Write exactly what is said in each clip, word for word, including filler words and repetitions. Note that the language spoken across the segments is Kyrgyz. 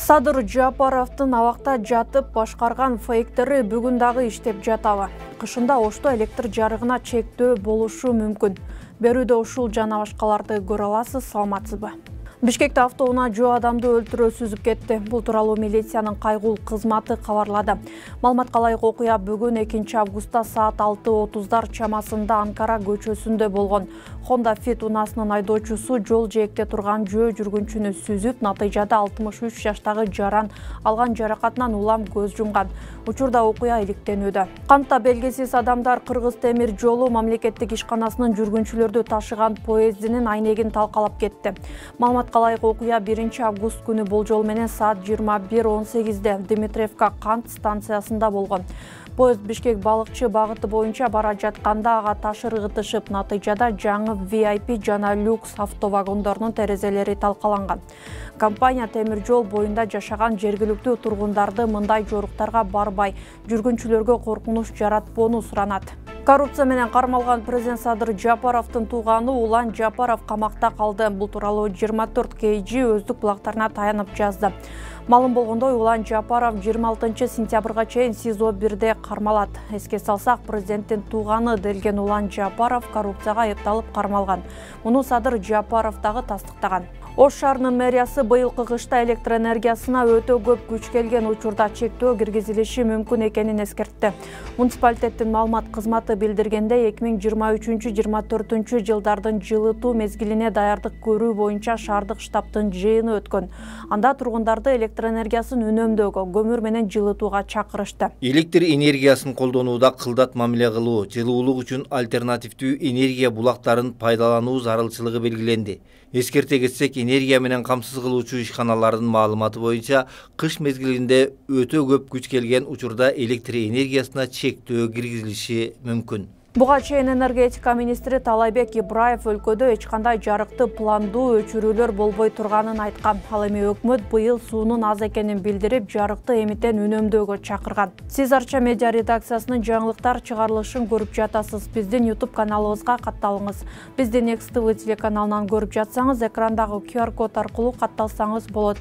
Садыр Жапаровдун абакта жатып башкарган фейктери бүгүн дагы иштеп жатабы? Кышында Ошто электр жарыгына чектөө болушу мүмкүн. Берүүдө ушул жана башкаларды көрө аласыз, саламатсызбы? Бишкекте автоунаа адамды өлтүрүү сүзүп кетти. Бул тууралуу милициянын кайгул кызматы кабарлады. Маалыматка ылайык окуя бүгүн экинчи августта саат алты отуздар чамасында Анкара көчөсүндө болгон. Honda Fit унаасынын айдоочусу жол жээкте турган жөө жүргүнчүнү сүзүп, натыйжада алтымыш үч жаштагы жаран алган жаракатынан улам көз жумган. Учурда окуя иликтенүүдө. Кантта белгисиз адамдар Кыргыз темир жолу мамлекеттик ишканасынын жүргүнчүлөрдү ташыган поездинин айнегин талкалап кетти. Маалыматка ылайык окуя биринчи август күнү болжол менен саат жыйырма бир он сегизде Дмитриевка кант станциясында болгон. Поезд Бишкек балыкчы багыты боюнча бара жатканда ага таш ыргытышып, натыйжада жаңы ви ай пи жана люкс автовагондордун терезелери талкаланган. Компания темир жол боюнда жашаган жергиликтүү тургундарды мындай жоруктарга барбай, жүргүнчүлөргө коркунуч жаратпоону суранат. Коррупция менен кармалган президент Садыр Жапаровдун тууганы Улан Жапаров камакта калды. Бул тууралуу жыйырма төрт кей жи өздүк булактарына таянып жазды. Маалым болгондой, Улан Жапаров жыйырма алтынчы сентябрга чейин СИЗО бирде кармалат. Эске салсак, президенттин тууганы делген Улан Жапаров коррупцияга айыпталып кармалган. Муну Садыр Жапаров дагы тастыктаган. Ош шаарынын мэриясы быйылкы кышта электр энергиясына өтө көп күч келген учурда чектөө киргизилиши мүмкүн экенин эскертти. Муниципалитеттин маалымат кызматы билдиргендей, эки миң жыйырма үчүнчү жыйырма төртүнчү жылдардын жылытуу мезгилине даярдык көрүү боюнча шаардык штабтын жыйыны өткөн. Анда тургундарды электр энергиясын үнөмдөөгө, көмүр менен жылытууга чакырышты. Электр энергиясын колдонууда кылдат мамиле кылуу, жылуулук үчүн альтернативдүү энергия булактарын пайдалануу зарылчылыгы белгиленди. Эскерте кетсек, энергия менен камсыз кылуучу ишканалардын маалыматы боюнча кыш мезгилинде өтө көп күч келген учурда электр энергиясына чектөө киргизилиши мүмкүн. Буга чейин энергетика министри Талайбек Ибраев өлкөдө эч кандай жарыкты пландуу өчүрүүлөр болбой турганын айткан. Ал эми өкмөт быйыл суунун аз экенин билдирип, жарыкты эмитен үнөмдөөгө чакырган. Сиз Арча медиа редакциясынын жаңылыктар чыгарылышын көрүп жатасыз. Биздин YouTube каналыбызга катталыңыз. Бизди Next ти ви телеканалынан көрүп жатсаңыз, экрандагы ку ар код аркылуу катталсаңыз болот.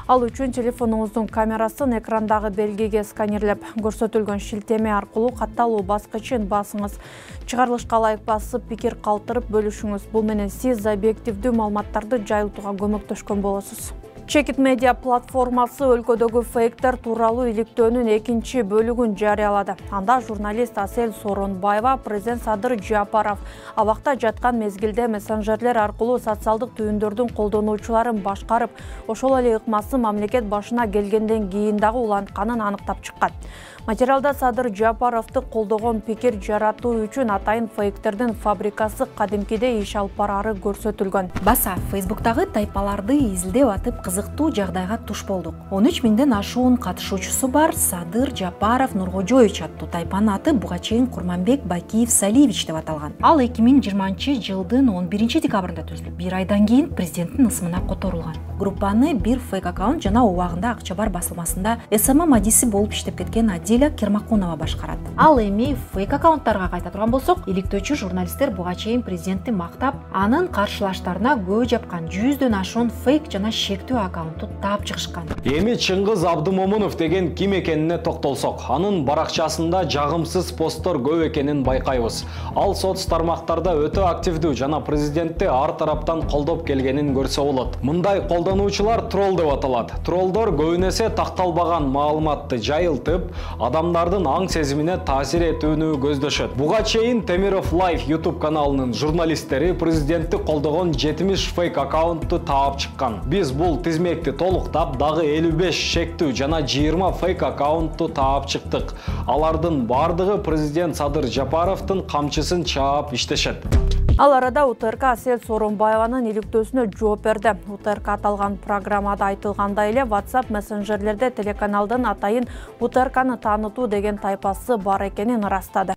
Ал үчүн телефонуңуздун камерасын экрандагы белгиге сканерлеп, көрсөтүлгөн шилтеме аркылуу катталуу баскычын басыңыз. Чыгарылышка ылайык басып, пикир калтырып бөлүшүңүз. Бул менен сиз объективдүү маалыматтарды жайылтууга көмөктөшкөн болосуз. Чекит медиа платформасы өлкөдөгү фейктер тууралуу иликтөөнүн экинчи бөлүгүн жарыялады. Анда журналист Асель Соронбаева президент Садыр Жапаров абакта жаткан мезгилде мессенджерлер аркылуу социалдык түйүндөрдүн колдонуучуларын башкарып, ошол эле ыкмасы мамлекет башына келгенден кийин дагы улантканын аныктап чыккан. Материалда Садыр Жапаровду колдогон пикир жаратуу үчүн атайын фейктердин фабрикасы кадимкидей иш алып барары көрсөтүлгөн. Баса Facebook'тагы тайпаларды изилдеп атып кызыктуу жагдайга туш болдук. он үч миңден ашуун катышуучусу бар Садыр Жапаров Нуркожоевич аттуу тайпанын аты буга чейин Курманбек Бакиев Салиевич деп аталган. Ал эки миң жыйырманчы жылдын он биринчи декабрында түзүлүп, бир айдан кийин президенттин ысымына которулган. Группаны бир фейк аккаунт жана убагында Акча бар басылмасында эс эм мадиси болуп иштеп кеткен Адиля Кермакунова башкарат. Ал эми фейк аккаунттарга кайта турган болсок, иликтөөчү журналисттер буга чейин президентти мактап, анын каршылаштарына көө жапкан жүздөн ашуун фейк жана шектүү аккаунтту таап чыгышкан. Эми Чыңгыз Абдымомунов деген ким экенине токтолсок, анын баракчасында жагымсыз посттор көп экенин байкайбыз. Ал соц тармактарда өтө активдүү жана президентти ар тараптан колдоп келгенин көрсө болот. Мындай колдонуучулар тролл деп аталат. Троллдор көбүнесе такталбаган маалыматты жайылтып, адамдардын аң сезимине таасир этүүнү көздөшөт. Буга чейин Темиров Live YouTube каналынын журналисттери президентти колдогон жетимиш фейк аккаунтту таап чыккан. Биз бул тизмекти толуктап, дагы элүү беш шектүү жана жыйырма фейк аккаунтту таап чыктык. Алардын бардыгы президент Садыр Жапаровдун камчысын чаап иштешет. Ал арада У Т Р К Асель Соронбаеванын иликтөөсүнө жооп берди. У Т Р К аталган программада айтылгандай эле WhatsApp мессенджерлерде телеканалдын атайын У Т Р Кны таанытуу деген тайпасы бар экенин ырастады.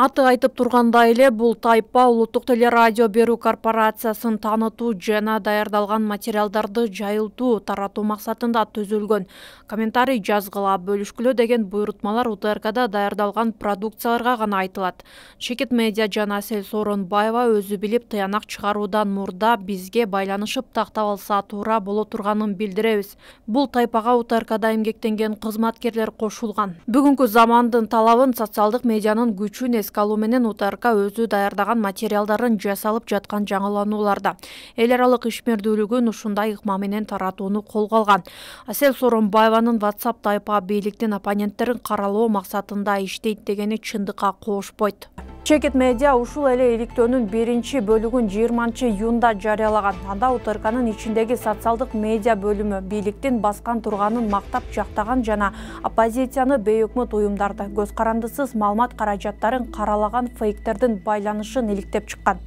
Аты айтып тургандай эле бул тайпа улуттук телерадио берүү корпорациясын таанытуу жана даярдалган материалдарды жайылтуу, таратуу максатында түзүлгөн. Комментарий жазгыла, бөлүшкүлө деген буйрутмалар У Т Р Кда даярдалган продукцияларга гана айтылат. Чекит медиа жана Асель Сооронбаева өзү билип тыянак чыгаруудан мурда бизге байланышып тактап алса туура боло турганын билдиребиз. Бул тайпага У Т Р Кда эмгектенген кызматкерлер кошулган. Бүгүнкү замандын талабын, социалдык медианын күчүн эске алуу менен У Т Р К өзү даярдаган материалдарын жасалып жаткан жаңыланууларда эл аралык ишмердүүлүгүн ушундай ыкма менен таратууну колго алган. Асель Сооронбаеванын WhatsApp тайпа бийликтин оппоненттерин каралоо максатында иштейт дегени чындыкка коошпойт. Чекит медиа ушул эле иликтөөнүн биринчи бөлүгүн жыйырманчы июнда жарыялаган. Анда У Т Р Кнын ичиндеги социалдык медиа бөлүмү бийликтин баскан турганын мактап жактаган жана оппозицияны бейөкмөт уюмдарды, көз карандысыз маалымат каражаттарын каралаган фейктердин байланышын иликтеп чыккан.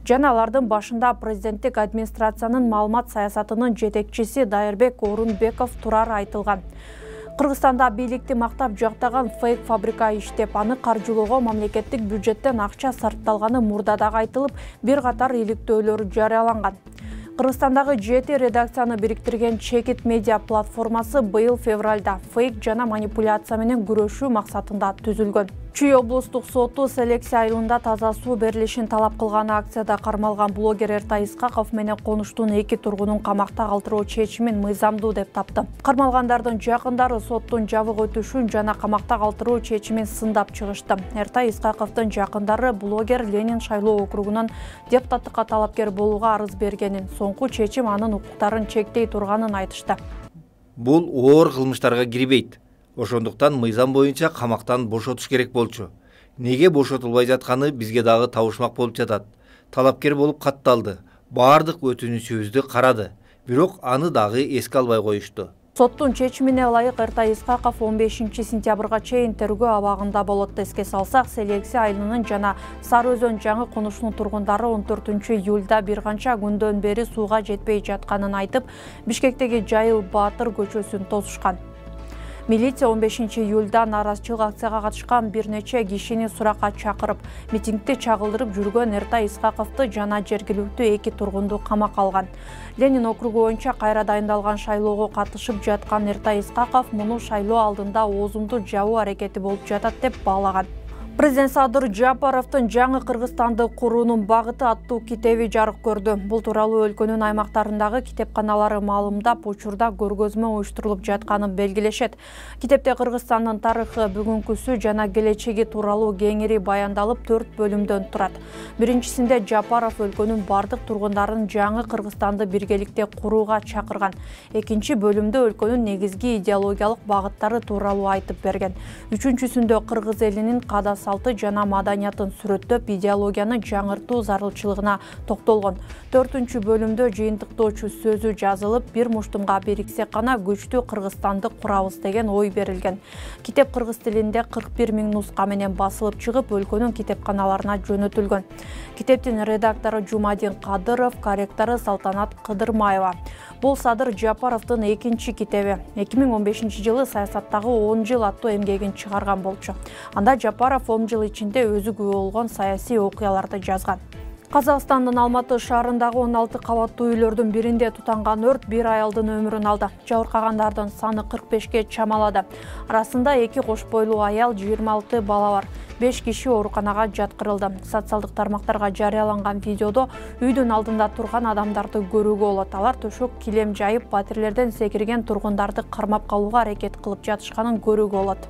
Жана алардын башында президенттик администрациянын маалымат саясатынын жетекчиси Дайырбек Орунбеков турары айтылган. Кыргызстанда бийликти мактап жактаган фейк фабрика иштеп, аны каржылоого мамлекеттик бюджеттен акча сарпталганы мурда дагы айтылып, бир катар иликтөөлөр жарыяланган. Кыргызстандагы жети редакцияны бириктирген Чекит медиа платформасы быйыл февралда фейк жана манипуляция менен күрөшүү максатында түзүлгөн. Чүй облустук соту селекция айылында таза суу берилишин талап кылган акцияда кармалган блогер Эртай Исхаков менен конуштун эки тургунун камакта калтыруу чечимин мыйзамдуу деп тапты. Кармалгандардын жакындары соттун жабык өтүшүн жана камакта калтыруу чечимин сындап чыгышты. Эртай Исхаковдун жакындары блогер Ленин шайлоо округунун депутаттыкка талапкер болууга арыз бергенин, соңку чечим анын укуктарын чектей турганын айтышты. Бул оор кылмыштарга кирбейт. Ошондуктан мыйзам боюнча камактан бошотуш керек болчу. Неге бошотулбай жатканы бизге дагы табышмак болуп жатат. Талапкер болуп катталды. Баардык өтүнүчүбүздү карады. Бирок аны дагы эске албай коюшту. Соттун чечимине ылайык Эртай Исхаков он бешинчи сентябрга чейин тергөө абагында болот. Эске салсак, селекция айылынын жана Сары Өзөн жаңы конушунун тургундары он төртүнчү июлда бир канча күндөн бери сууга жетпей жатканын айтып, Бишкектеги Жайыл Баатыр көчөсүн тосушкан. Милиция он бешинчи июлда нааразычылык акцияга катышкан бир нече кишини суракка чакырып, митингди чагылдырып жүргөн Эртай Исхаковду жана жергиликтүү эки тургунду камакка алган. Ленин округу боюнча кайра дайындалган шайлоого катышып жаткан Эртай Исхаков муну шайлоо алдында оозумду жабуу аракети болуп жатат деп баалаган. Президент Садыр Жапаровдун жаңы Кыргызстанды куруунун багыты аттуу китеби жарык көрдү. Бул тууралуу өлкөнүн аймактарындагы китепканалары маалымдап, учурда көргөзмө уюштурулуп жатканын белгилешет. Китепте Кыргызстандын тарыхы, бүгүнкүсү жана келечеги тууралуу кеңири баяндалып, төрт бөлүмдөн турат. Биринчисинде Жапаров өлкөнүн бардык тургундарын жаңы Кыргызстанды биргеликте курууга чакырган. Экинчи бөлүмдө өлкөнүн негизги идеологиялык багыттары тууралуу айтып берген. Үчүнчүсүндө кыргыз элинин када салты жана маданиятын сүрөттөп, идеологияны жаңыртуу зарылчылыгына токтолгон. Төртүнчү бөлүмдө жыйынтыктоочу сөзү жазылып, бир муштумга бириксек гана күчтүү Кыргызстанды курабыз деген ой берилген. Китеп кыргыз тилинде кырк бир миң нуска менен басылып чыгып, өлкөнүн китепканаларына жөнөтүлгөн. Китептин редактору Жумадин Кадыров, корректору Салтанат Кыдырмаева. Бул Садыр Жапаровдун экинчи китеби. эки миң он бешинчи жылы саясаттагы он жыл аттуу эмгегин чыгарган болчу. Анда Жапаров он жыл ичинде өзү күбө болгон саясий окуяларды жазган. Казакстандын Алматы шаарындагы он алты кабаттуу үйлөрдүн биринде тутанган өрт бир аялдын өмүрүн алды. Жабыркагандардын саны кырк бешке чамалады. Арасында эки кош бойлуу аял, жыйырма алты бала бар. беш киши ооруканага жаткырылды. Социалдык тармактарга жарыяланган видеодо үйдүн алдында турган адамдарды көрүүгө болот. Алар төшөк килем жайып, батирлерден секирген тургундарды кармап калууга аракет кылып жатышканын көрүүгө болот.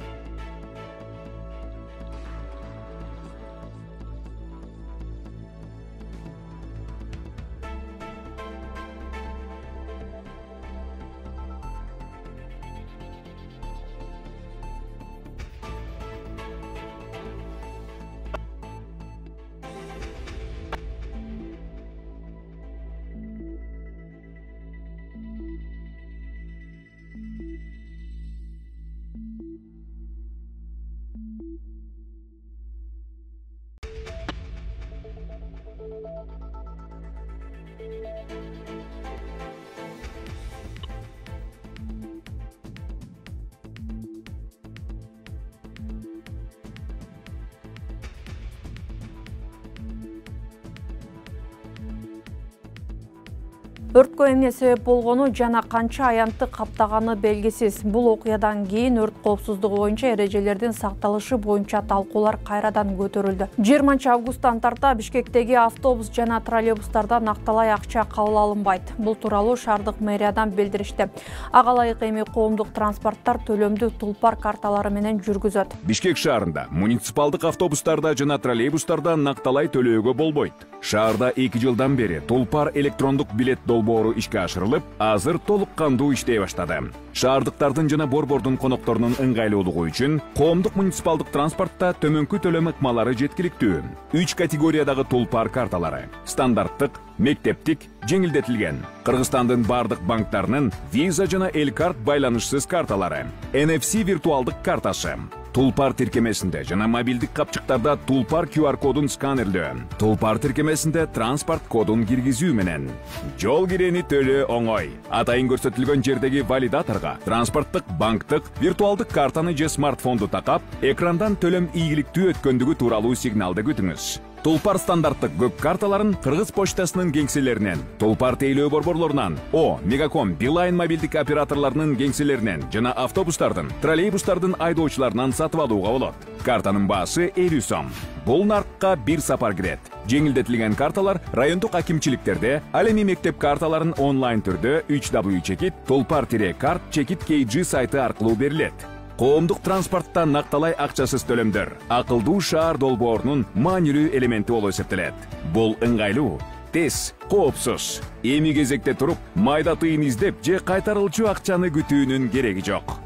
Өрткө эмне себеп болгону жана канча аянтты каптаганы белгисиз. Бул окуядан кийин өрт коопсуздугу боюнча эрежелердин сакталышы боюнча талкуулар кайрадан көтөрүлдү. жыйырманчы августтан тарта Бишкектеги автобус жана троллейбустардан акталай акча кабыл алынбайт. Бул тууралуу шаардык мэриядан билдиришти. Ага ылайык эми коомдук транспорттар төлөмдү Тулпар карталары менен жүргүзөт. Бишкек шаарында муниципалдык автобустарда жана троллейбустарда накталай төлөөгө болбойт. Шаарда эки жылдан бери Тулпар электрондук билет долбоору ишке ашырылып, азыр толук кандуу иштей баштады. Шаардыктардын жана борбордун конокторунун ыңгайлуулугу үчүн коомдук муниципалдык транспортто төмөнкү төлөм ыкмалары жеткиликтүү. Үч категориядагы Тулпар карталары: стандарттык, мектептик, жеңилдетилген. Кыргызстандын бардык банктарынын Visa жана Элкарт байланышсыз карталары, эн эф си виртуалдык картасы, Тулпар тиркемесинде жана мобилдик капчыктарда Тулпар ку ар кодун сканерлөө, Тулпар тиркемесинде транспорт кодун киргизүү менен жол кирени төлөө оңой. Атайын көрсөтүлгөн жердеги валидаторго транспорттук, банктык, виртуалдык картаны же смартфонду такап, экрандан төлөм ийгиликтүү өткөндүгү тууралуу сигналды күтүңүз. Тулпар стандарттык көк карталарын Кыргыз почтасынын кеңселеринен, Тулпар тейлөө борборлорунан, О, Мегаком, Билайн мобилдик операторлорунун кеңселеринен жана автобустардын, троллейбустардын айдоочуларынан сатып алууга болот. Картанын баасы элүү сом. Бул наркка бир сапар кирет. Жеңилдетилген карталар райондук акимчиликтерде, ал эми мектеп карталарын онлайн түрдө үч дабл ю чекит tulpar-карт чекит кей джи сайты аркылуу берилет. Коомдук транспортто накталай акчасыз төлөмдөр акылдуу шаар долбоорунун маанилүү элементи болуп эсептелет. Бул ыңгайлуу, тез, коопсуз. Эми кезекте туруп, майда тыйын издеп же кайтарылчу акчаны күтүүнүн кереги жок.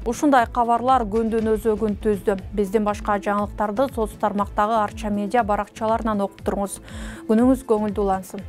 Ушундай кабарлар күндүн өзөгүн түздү. Биздин башка жаңылыктарды соц тармактагы Арча медиа баракчаларынан окуп туруңуз. Күнүңүз көңүлдүү улансын.